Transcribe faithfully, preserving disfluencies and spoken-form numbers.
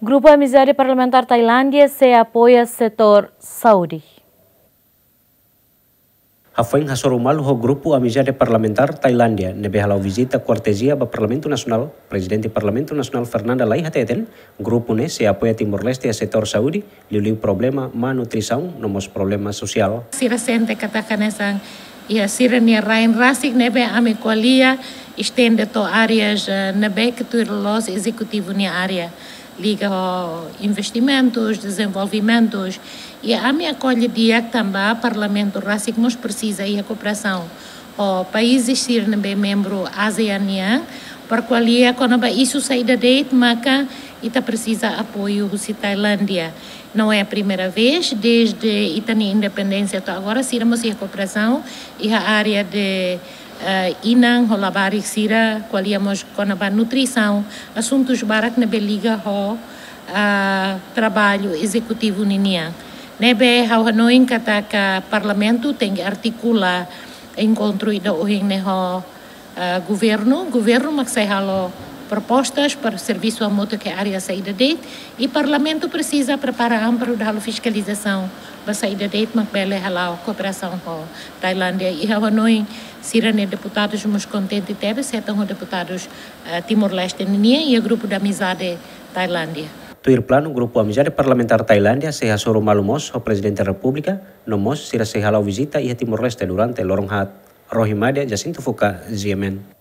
Grupu Amizade Parlamentár Tailándia sei apoia setór saúde. Hafoin hasoru malu ho Grupu Amizade Parlamentár Tailándia ne'ebé hala'o vizita kortezia ba Parlamentu Nasionál, Prezidente Parlamentu Nasionál Fernanda Lay hateten, grupu ne'e sei apoia Timor-Leste iha setór saúde, liuliu problema má nutrisaun no mós problema sosiál. Sira sente katak hanesan iha sira-nia rain rasik ne'ebé ami ko'alia estende to'o áreas, eh, ne'ebé ke tuir loloos ezekutivu nia área, liga ho investimentus, dezenvolvimentus. I ami akolle di'ak tanba Parlamentu rasik mós presiza iha kooperasaun ho países sira ne'ebé membru ASEAN nian, para ko'alia kona-ba isu saida de'it maka ita presiza apoiu husi Tailándia. Não é a primeira vez, desde ita-nia independénsia to'o agora, sira mós iha kooperasaun iha área de, eh, inan ho labarik sira, ko'alia mós kona-ba nutrisaun, asuntus barak ne'ebé liga ho, ah, traballu ezekutivu ninian. Ne'ebé ha'u hanoin katak Parlamentu tenke artikula enkontru ida ohin ne'e ho, ah, governu, governu mak sei halo propostas para servisu hamutuk iha área saida de'it, i Parlamentu presiza prepara an para halo fiskalizasaun ba saida de'it mak bele hala'o kooperasaun ho Tailándia. I ha'u hanoin sira-nia deputadus mós kontente tebes hetan ho deputadus, eh, Timor-Leste ninian iha Grupu da Amizade Tailándia. Tuir planu, Grupu Amizade Parlamentár Tailándia sei hasoru malu mós ho Prezidente Repúblika, no mós sira sei hala'o vizita iha Timor-Leste durante loron haat. Rohi Madia, Jacinto Fuca, G M N.